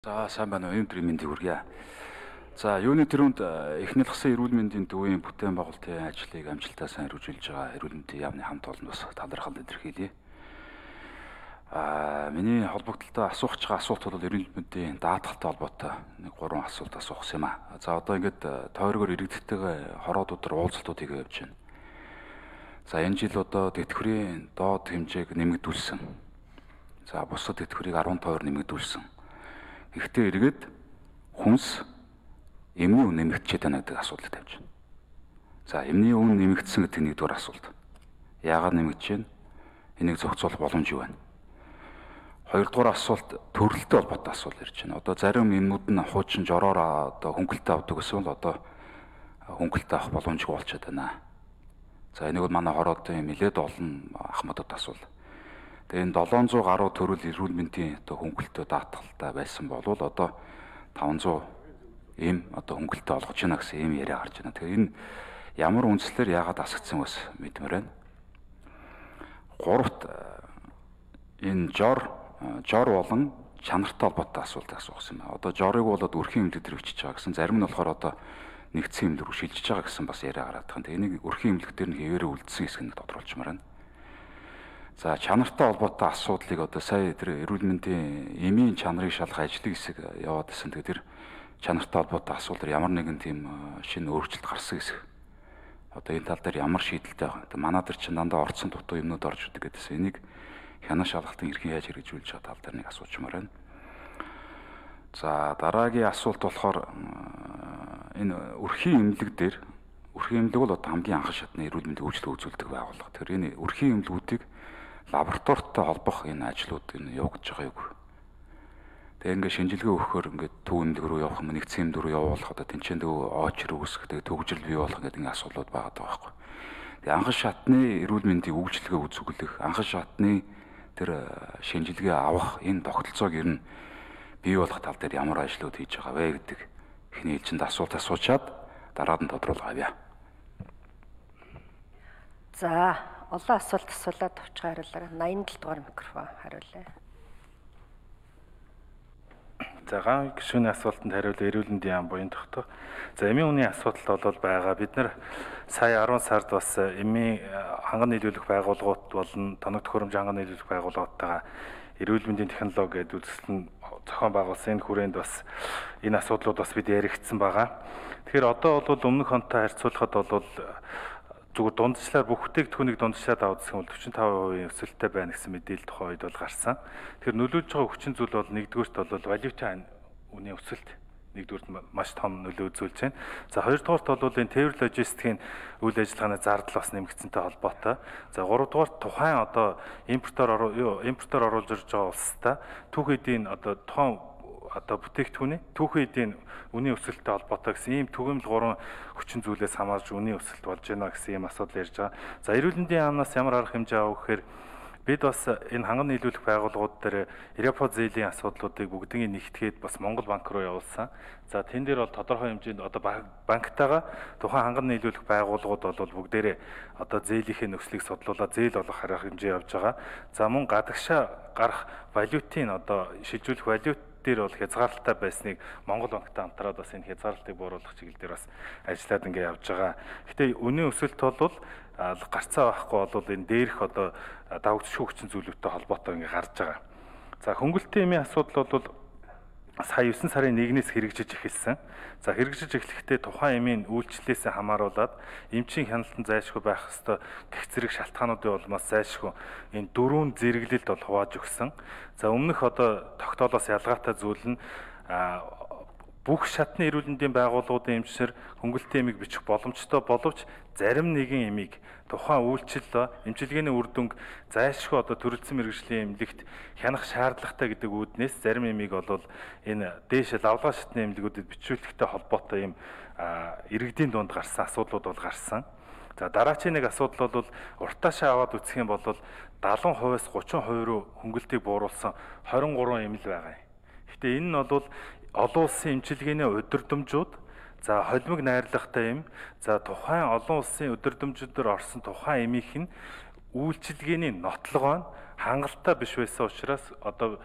За сайн байна уу? Өнөөдрийн мэндийг хүргье. За юуны төрөнд эхнэл гасан эрүүл мэндийн төвийн бүтээн байгуулалтын ажлыг амжилттай сайн хэрэгжүүлж байгаа эрүүл мэндийн яамны хамт олон бас талархал илэрхийлье. Миний холбогдлолтой асуух байгаа асуулт бол эрүүл мэндийн даатгалтай холбоотой нэг 3 асуулт асуух юм аа. За одоо ингээд тойрогоор иргэдтэйгээ хороодуудаар уулзалтууд хийгээ явж байна. За энэ жил одоо тэтгэврийн доод хэмжээг нэмэгдүүлсэн. За бусад тэтгэврийг 12% нэмэгдүүлсэн. Гэхдээ эргээд хүнс эмний үн нэмэгдчихэд байна гэдэг асуудал тавьж байна. За эмний үн нэмэгдсэн гэдэг нэгдүгээр асуулт. Яагаад нэмэгдэж байна? Энийг зохицуулах боломж юу байна? Хоёрдугаар асуулт төрөлттэй холбоотой асуулт ирж байна. Одоо зарим эмнүүд нь хуучин жороор одоо хөнгөлтөө авдаг гэсэн бол одоо хөнгөлтөө авах боломжгүй болчиход байна. За энийг бол манай хороодын нэлээд олон ахмадад асуул. Тэгээ энэ 700 гаруй төрөл эрүүл мэндийн одоо хөнгөлтөө даатгалтай байсан бол одоо 500 эм одоо хөнгөлтөө олгож байна гэсэн ийм яриа гарч байна. Тэгэхээр энэ ямар үндслээр яагаад асагдсан бас мэдмээр байна. Гуравт энэ жор болон чанартай холбоотой асуулт асуусан юм. Одоо жорыг болоод өрхийн эмнэлэг дээр өчөж байгаа гэсэн, зарим нь болохоор одоо нэгдсэн эмнэлэг рүү шилжиж байгаа гэсэн бас яриа гараад байгаа. Тэгээ энийг өрхийн эмнэлэг дээр нь хэвээрээ үлдсэн хэсгийг тодорхойлчмаар байна. За чанартай холбоотой асуудлыг одоо сая тэр эрүүл мэндийн эмийн чанарыг шалгах ажлын хэсэг яваад байсан. Тэгээ тэр чанартай холбоотой асуудал ямар нэгэн тийм шинэ өөрчлөлт гарсан хэсэг. Одоо энэ тал дээр ямар шийдэлтэй байгаа. Манай дээр чинь дандаа орцсон дутуу юмнууд орж ирдэг гэдээс энийг хянах шалгалтын эрхийг яаж хэрэгжүүлж байгаа тал дээр нэг асуучмаар байна. За дараагийн асуулт болохоор энэ өрхийн эмнэлэг дээр өрхийн эмнэлэг бол одоо хамгийн анхан шатны эрүүл мэндийн үйлчлэг үзүүлдэг байгууллага. Тэгэхээр энэ өрхийн эмнэлгүүдийг лабораторитой холбох энэ ажлууд энэ явагдаж байгаа юу? Тэгээ ингээд шинжилгээ өгөхөөр ингээд төв эмнэлэг рүү явах юм, нэгдсэн эмнэлэг рүү явуулах одоо тэнцэн төв очр үүсгэх, тэгээ төгжрөл бий болох гэдэг ингээд асуудлууд байгаа байхгүй. Тэгээ анхан шатны эрүүл мэндийн үйлчлэгээ үзүүлэх, анхан шатны тэр шинжилгээ авах энэ тогтолцоог ер нь бий болох тал дээр ямар ажлууд хийж байгаа вэ гэдэг эхний ээлжинд асуулт асуучаад дараад нь тодруулах авъя. За олон асуулт асуулаад авчих хариулаарай. 87 дугаар микрофон хариулъя. За ган гишүүний асуултанд хариулъя. Эрүүл мэндийн яам буян тогтоох. За эмийн үний асуудал бол байгаа. Бид нар сая 10 сард бас эмийн ханган нийлүүлэх байгууллагууд болон тоног төхөөрөмж ханган нийлүүлэх байгууллагуудтайгаа эрүүл мэндийн технологи гэдэг үзэсгэлэн зохион байгуулсан. Энэ хүрээнд бас энэ асуудлууд бас бид яригдсан байгаа. Тэгэхээр одоо бол өмнөх онтой харьцуулахад бол зүгээр дундчлаар бүх бүтээгдэхүүнийг дундчлаад авах гэсэн бол 45% өсөлттэй байна гэсэн мэдээлэл тухайн үед бол гарсан. Тэгэхээр нөлөөлж байгаа хүчин зүйл бол нэгдүгээрт бол валютын үнийн өсөлт нэгдүгээрт маш том нөлөө үзүүлж байна. За хоёрдугаарт бол энэ тээвэр логистикийн үйл ажиллагааны зардал бас нэмэгдсэнтэй холбоотой. За гуравдугаарт тухайн одоо импортоор оруулж ирж байгаа улстай түүх эдийн одоо тухайн одоо бүтээгдэхүүний түүхэн эдийн үнийн өсөлттэй холбоотой гэсэн ийм түгээмэл 3 хүчин зүйлээс хамаарж үнийн өсөлт болж байна гэсэн ийм асуудал ярьж байгаа. За эрүүл мэндийн яамнаас ямар арга хэмжээ авах гэхээр бид бас энэ ханган нийлүүлэх байгууллагууд дээр Европ зээлийн асуудлуудыг бүгднийг нэгтгээд бас Монгол банк руу явуулсан. За тэн дээр бол тодорхой хэмжээнд одоо банктайгаа тухайн ханган нийлүүлэх байгууллагууд бол бүгдээрээ одоо зээлийнхээ нөхцөлийг судлуулаад зээл олох арга хэмжээ явж байгаа. За мөн гадагшаа гарах валютын одоо шилжүүлэх валют дээр бол хязгаарлалтай байсныг Монгол банктай хамтраад бас энэ хязгаарлалтыг бууруулах чиглэл дээр бас ажиллаад ингээд явж байгаа. Гэтэ үнийн өсөлт бол гарцаа байхгүй бол энэ дээрх одоо давагдчих хүчин зүйлүүдтэй холбоотой ингээд гарч байгаа. За хөнгөлтийн эмийн асуудал бол сая 9 сарын 1-ээс хэрэгжиж эхэлсэн. За хэрэгжиж эхлэхдээ тухайн эмийн үйлчлэлээс хамааруулаад эмчийн хяналтанд зайлшгүй байх ёстой гэх зэрэг шалтгаануудын улмаас зайлшгүй энэ 4 зэрэглэлд бол хувааж өгсөн. За өмнөх одоо тогтоолоос ялгаатай зүйл нь бүх шатны эрүүл мэндийн байгууллагуудын эмчнэр хөнгөлтийн эмийг бичих боломжтой боловч зарим нэгэн эмийг тухайн үйлчлэл эмчилгээний үр дүнг зайлшгүй одоо төрөлцсөн мэргэжлийн эмнэлэгт хянах шаардлагатай гэдэг үүднээс зарим эмийг бол энэ дээш лавлгаа шатны эмнэлгүүдэд бичүүлэхтэй холбоотой юм иргэдийн дунд гарсан асуудлууд бол гарсан. За дараагийн нэг асуудал бол уртаашаа аваад үзэх юм бол 70%-аас 30% руу хөнгөлтийг бууруулсан 23 эмнэл байгаа юм. Гэтэ энэ нь бол олон улсын эмчилгээний удирдамжууд за холимог найрлагатай юм. За тухайн олон улсын удирдамжуудаар орсон тухайн эмийнх нь үйлчилгээний нотлогоо нь хангалттай биш байсан учраас одоо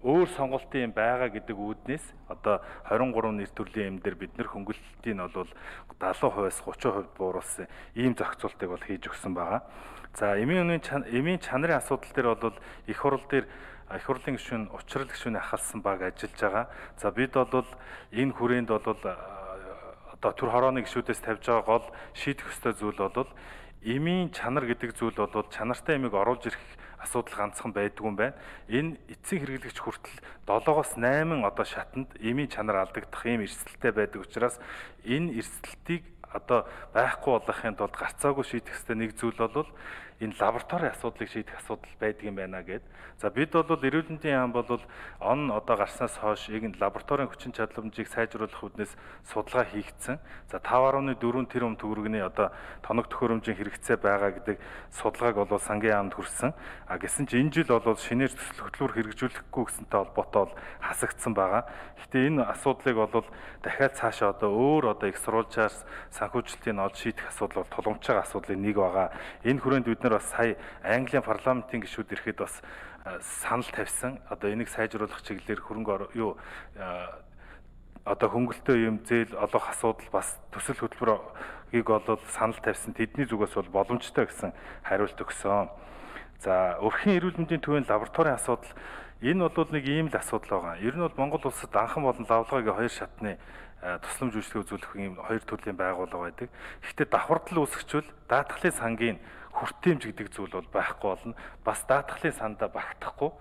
өөр сонголтын байгаа гэдэг үүднээс одоо 23 нэр төрлийн эм дээр бид нэр хөнгөлөлтийг нь бол 70%-аас 30% бууруулсан ийм зохицуултыг бол хийж өгсөн байгаа. За эмийн чанарын асуудал дээр бол их хурлын гишүүн учрал гишүүний ахалсан баг ажиллаж байгаа. За бид бол энэ хүрээнд бол одоо төр хорооны гишүүдээс тавьж байгаа гол шийдэх ёстой зүйл бол эмийн чанар гэдэг зүйл бол чанартай эмийг оруулж ирэх асуудал ганцхан байдгүй юм байна. Энэ эцсийн хэрэглэгч хүртэл 7-8 одоо шатанд эмийн чанар алдагдах ийм эрсдэлтэй байдаг учраас энэ эрсдэлтийг одоо байхгүй болгохын тулд гарцаагүй шийдэх ёстой нэг зүйл бол энэ лабораторийн асуудлыг шийдэх асуудал байдаг юм байна гэд. За бид бол эрүүл мэндийн яам бол одоо гарснаас хойш яг лабораторийн хүчин чадламжийг сайжруулах үүднээс судалгаа хийгдсэн. За 5.4 тэрбум төгрөгийн одоо тоног төхөөрөмжийн хэрэгцээ байгаа гэдэг судалгааг бол сангийн яамд хүрсэн. А гэсэн чинь энэ жил бол шинээр төсөл хөтөлбөр хэрэгжүүлэхгүй гэсэнтэй холбоотой хасагдсан байгаа. Гэхдээ энэ асуудлыг бол дахиад цаашаа одоо өөр одоо их сурвалжаас санхүүжилтийн олж шийдэх асуудал бол тулгамж байгаа асуудлын нэг байгаа. Энэ хүрээнд бид нар бас сая Английн парламентын гишүүд ирэхэд бас санал тавьсан. Одоо энийг сайжруулах чиглэлээр одоо хөнгөлтөө юм зээл олох асуудал бас төсөл хөтөлбөрийг бол санал тавьсан. Тэдний зүгээс бол боломжтой гэсэн хариулт өгсөн. За өрхийн эрүүл мэндийн төвийн лабораторийн асуудал энэ бол нэг ийм л асуудал байгаа. Ер нь бол Монгол улсад анхан болон лавлгаагийн хоёр шатны тусламж үйлчлэг үзүүлэх ийм хоёр төрлийн байгууллага байдаг. Гэхдээ давхардал үүсгчвэл даатгалын сангийн хүртээмж гэдэг зүйл бол байхгүй болно. Бас даатгалын сандаа багтахгүй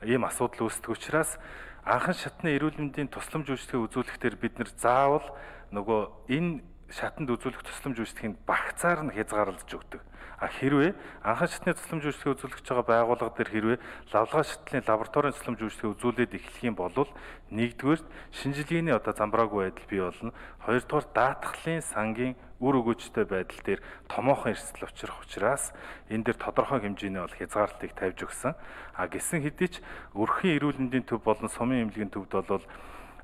ийм асуудал үүсдэг учраас анхан шатны эрүүл мэндийн тусламж үйлчлэгээ үзүүлэхдээ бид нэр заавал нөгөө энэ шатанд үзүүлэх тусламж үйлчлэгийн багцаар нь хязгаарлаж өгдөг. А хэрвээ анхан шатны тусламж үйлчлэгээ үзүүлж байгаа байгууллага дээр хэрвээ лавлгаа шатлын лабораторийн тусламж үйлчлэгээ үзүүлээд эхлэх юм бол нэгдүгээр шинжилгээний одоо замбраагүй байдал бий болно. Хоёрдугаар даатгалын сангийн үр өгөөжтэй байдал дээр томоохон эрсдэл учрах учраас энэ дээр тодорхой хэмжээний бол хязгаарлалтыг тавьж өгсөн. А гэсэн хэдий ч өрхийн эрүүл мэндийн төв болон сумын эмнэлгийн төвд бол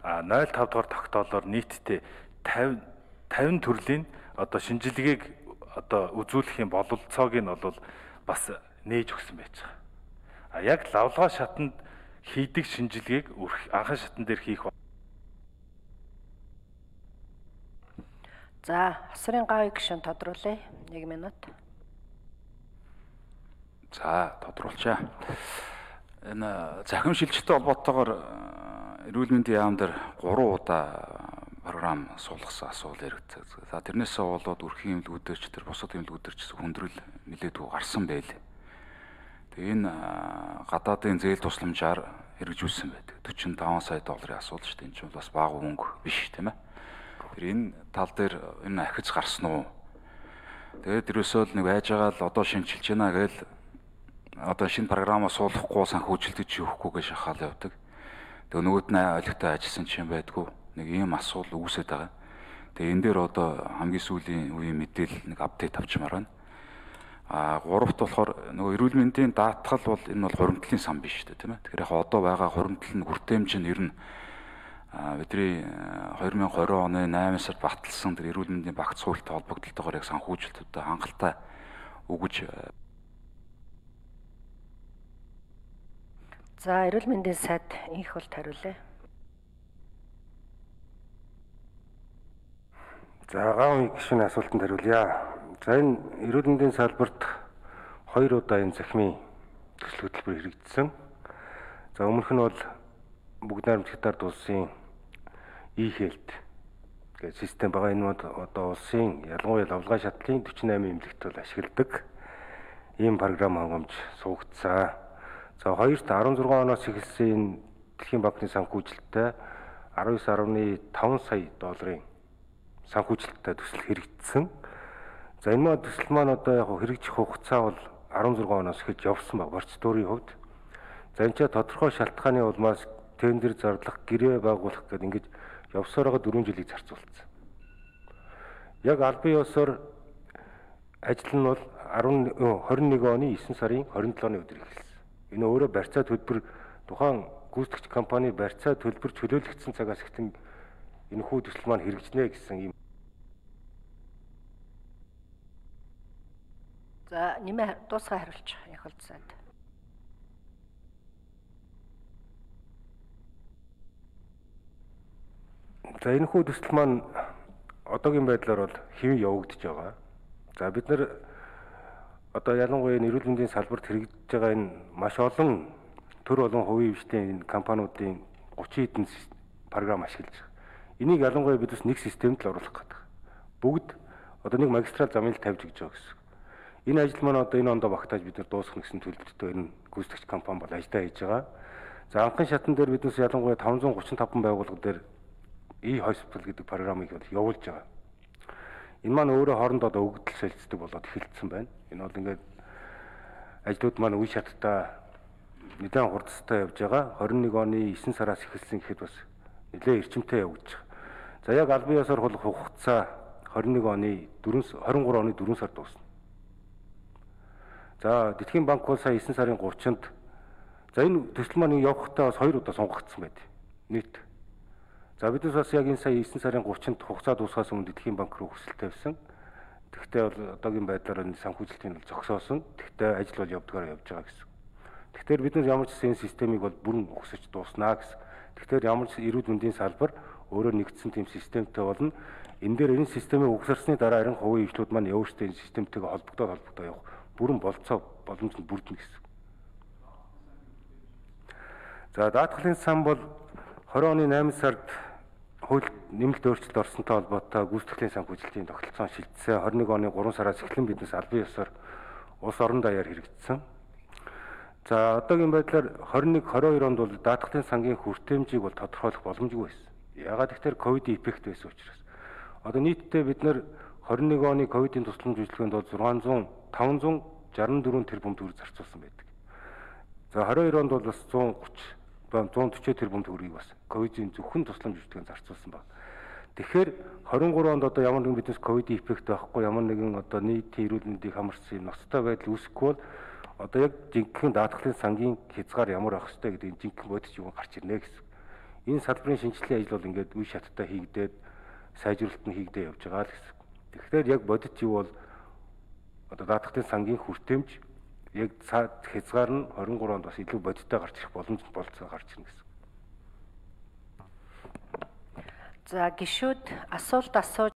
0.5 дугаар тогтоолоор нийтдээ 50 төрлийн одоо шинжилгээг одоо үзүүлэхийн бололцоог нь бол бас нээж өгсөн байж байгаа. А яг лавлгаа шатанд хийдэг шинжилгээг анхан шатан дээр хийх. За, асрын гавь гишүүн тодруулъя. 1 минут. За, тодруулчаа. Энэ захим шилжилттэй холбоотойгоор эрүүл мэндийн яам дээр 3 удаа програм суулгасан асуул яригдсан. За тэрнээсээ болоод өрхийн эмнэлгүүдээр ч тэр бусад эмнэлгүүдээр ч хүндрэл нэлээдгүй гарсан байл. Тэгээ энэ гадаадын зээл тусламжаар хэрэгжүүлсэн байдаг. 45 сая долларын асуудал шүү дээ. Энэ чинь бас бага мөнгө биш тийм ээ. Тэр энэ тал дээр энэ ахиж гарсан уу? Тэгээд ерөөсөө л нэг байж байгаа л одоо шинжилж байна гээл одоо шинэ програмаа суулгахгүй санхүүжилтөд ч өгөхгүй гэж шахаал явдаг. Тэгээ нөгөөд нь ойлгохтой ажилласан чинь байдгүй. Нэг ийм асуудал үүсэж байгаа. Тэгээ энэ дээр одоо хамгийн сүүлийн үеийн мэдээлэл нэг апдейт авчмаар байна. А гуравт болохоор нөгөө эрүүл мэндийн даатгал бол энэ бол хуримтлалын сан биш шүү дээ тийм ээ. Тэгэхээр яг одоо байгаа хуримтлал нь хүртээмж нь ер нь бидний 2020 оны 8 сард баталсан тэр эрүүл мэндийн багц хуультай холбогдлолтойгоор яг санхүүжилтүүдэд хангалттай өгөж. За эрүүл мэндийн сайд инх бол хариулъя. За гавь гишүүний асуултанд хариулъя. За энэ эрүүл мэндийн салбарт 2 удаа энэ захимын төсөл хөтөлбөр хэрэгжсэн. За өмнөх нь бол бүгд найрамдагтаар улсын e-health гэх систем байгаа. Энэ одоо улсын ялангуяа лавлгаа шатлын 48 эмнэлэгт бол ашигладаг ийм програм хангамж суугдсан. За хоёрт 16 оноос эхэлсэн Дэлхийн банкны санхүүжилттэй 19.5 сая долларын санхүүжилттэй төсөл хэрэгжсэн. За энэ төсөл маань одоо яг хэрэгжих хугацаа бол 16 оноос эхэлж явсан баг процедурын хувьд. За энэ ч тодорхой шалтгааны улмаас тендер зарлах, гэрээ байгуулах гэдэг ингэж явсаар байгаа 4 жилийг зарцуулсан. Яг албан ёсоор ажил нь бол 21 оны 9 сарын 27-ны өдөр эхэлсэн. Энэ өөрөө барьцаа төлбөр тухайн гүйцэтгэгч компани барьцаа төлбөр чөлөөлөгдсөн цагаас эхлэн энэ хүү төсөл маань хэрэгжинэ гэсэн юм. За нэмээ дуусгаа хариулчих их болцоод. За энэ хүү төсөл маань одоогийн байдлаар бол хэвэн явагдаж байгаа. За бид нар одоо ялангуяа эрүүл мэндийн салбарт хэрэгжиж байгаа энэ маш олон төр болон хувийн хвшлийн компаниудын 30 хэдэн програм ашиглаж байгаа. Энийг ялангуяа бид бас нэг системд л оруулах гэдэг. Бүгд одоо нэг магистрал замын л тавьж өгч байгаа гэсэн. Энэ ажил маань одоо энэ ондоо багтааж бид нар дуусгах гэсэн төлөвлөлтөөр энэ гүйцэтгэгч компани бол ажиллаа хийж байгаа. За анхны шатан дээр биднээс ялангуяа 535 байгууллага дээр e-hospital гэдэг програмыг бол явуулж байгаа. Энэ маань өөрөө хоорондоо өгөгдөл солилцдог болоод эхэлсэн байна. Энэ бол ингээд ажлууд маань үе шаттай нэлээд хурдтай явж байгаа. 21 оны 9 сараас эхэлсэн гэхэд бас нэлээд эрчимтэй явагдаж байгаа. За яг албан ёсоор хуулах хугацаа 23 оны 4 сард дуусна. За Дэлхийн банк бол сая 9 сарын 30-нд за энэ төсөл маань явахдаа бас 2 удаа сонгогдсон байд. Нийт. За бидээс бас яг энэ сая 9 сарын 30-нд хугацаа дуусахаас өмнө Дэлхийн банк руу хүсэлт тавьсан. Тэгвэл бол одоогийн байдлаар энэ санхүүжилтийн бол зогсоосон. Тэгвэл ажил бол явдгаар явж байгаа гэсэн. Тэгэхээр бид нар ямар ч энэ системийг бол бүрэн өгсөж дууснаа гэсэн. Тэгэхээр ямар ч эрүүл мэндийн салбар өөрөө нэгдсэн тийм системтэй болно. Энэ дээр энэ системийг өгсөрсний дараа харин хувийн хвшлүүд маань өөрсдөө энэ системтэйгээ холбогдоод явах бүрэн болцоо боломж нь бүрдэнэ гэсэн. За даатгалын сан бол 20 оны 8 сард хууль нэмэлт өөрчлөлт орсонтой холбоотой гүйцэтгэлийн санхүүжилтийн тогтолцоон шилжсэн. 21 оны 3 сараас эхлэн биднес албан ёсоор улс орон даяар хэрэгжсэн. За одоогийн байдлаар 21-22 онд бол даатгалын сангийн хүртээмжийг бол тодорхойлох боломжгүй байсан. Ягаад гэвэл ковид эффект байсан учраас. Одоо нийтдээ бид нар 21 оны ковидын тусламж үйлчилгээнд бол 564 тэрбум төгрөг зарцуулсан байдаг. За 22 онд бол бас 140 тэрбум төгрөгийг бас ковидын зөвхөн тусламж үйлчилгээнд зарцуулсан байна. Тэгэхээр 23 онд одоо ямар нэгэн биднес ковид эффект байхгүй, ямар нэгэн одоо нийтийн эрүүл мэндийг хамарсан ноцтой байдал үүсэхгүй бол одоо яг жинхэнэ даатгалын сангийн хязгаар ямар байх ёстой гэдэг энэ жинхэнэ бодис юу гарч ирнэ гэсэн. Энэ салбарын шинжилгээ ажил бол ингээд үе шаттай хийгдээд сайжруулалт нь хийгдээ явж байгаа л гэсэн. Тэгэхээр яг бодит юу бол одоо даатгалын сангийн хүртээмж яг хязгаар нь 23 онд бас илүү бодиттой гарч ирэх боломж болцоо гарч ирнэ гэсэн. За гишүүд асуулт асууж